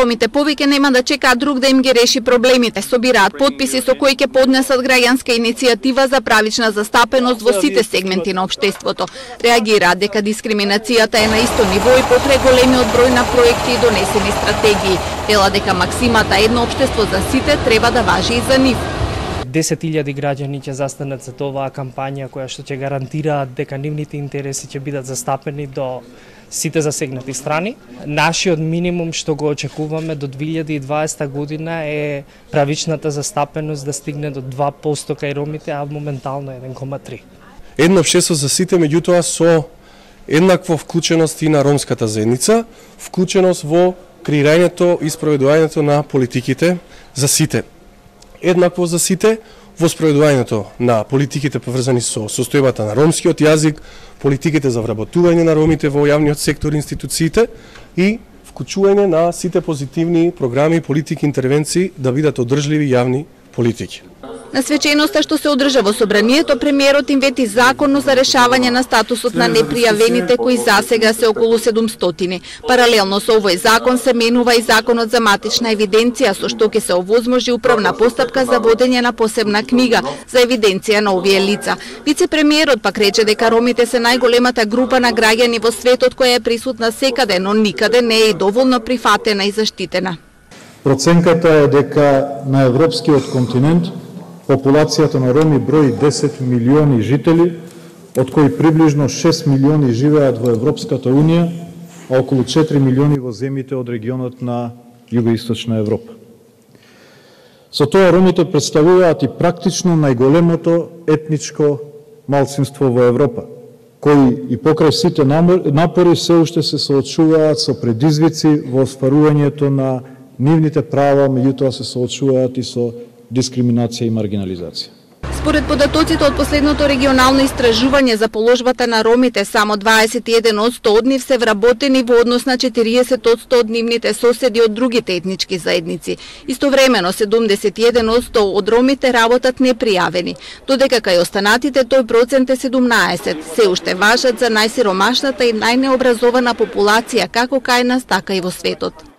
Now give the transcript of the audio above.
ромите повеќе нема да чекаат друг да им ги реши проблемите. Собираат потписи со кои ќе поднесат граѓанска иницијатива за правична застапеност во сите сегменти на општеството. Реагираат дека дискриминацијата е на исто ниво и покрај големиот број на проекти и донесени стратегии. Вела дека максимата едно општество за сите треба да важи и за нив. 10.000 граѓани ќе застанат за оваа кампања која што ќе гарантира дека нивните интереси ќе бидат застапени до сите засегнати страни. Нашиот минимум што го очекуваме до 2020 година е правичната застапеност да стигне до 2% кај ромите, а моментално 1,3%. Едно општество за сите, меѓутоа со еднаква вклученост и на ромската заедница, вклученост во креирањето и спроведувањето на политиките за сите. Еднакво за сите во спроведувањето на политиките поврзани со состојбата на ромскиот јазик, политиките за вработување на ромите во јавниот сектор, институциите и вклучување на сите позитивни програми, политики, интервенции да бидат одржливи јавни политики. На свеченоста што се одржа во собранието, премиерот им вети законно за решавање на статусот на непријавените кои засега се околу 700. Паралелно со овој закон се менува и законот за матична евиденција, со што ќе се овозможи управна постапка за водење на посебна книга за евиденција на овие лица. Вице-премиерот пак рече дека ромите се најголемата група на граѓани во светот која е присутна секаде, но никаде не е доволно прифатена и заштитена. Проценката е дека на европскиот континент популацијата на роми брои 10 милиони жители, од кои приближно 6 милиони живеат во Европската Унија, а околу 4 милиони во земјите од регионот на Југоисточна Европа. Со тоа ромите представуваат и практично најголемото етничко малцинство во Европа, кои и покрај сите напори се уште се соочуваат со предизвици во остварувањето на нивните права, меѓутоа се соочуваат и со дискриминација и маргинализација. Според податоците од последното регионално истражување за положбата на ромите, само 21% од нив се вработени во однос на 40% од нивните соседи од другите етнички заедници. Истовремено 71% од ромите работат непријавени, додека кај останатите тој процент е 17%. Се уште важат за најсиромашната и најнеобразована популација како кај нас, така и во светот.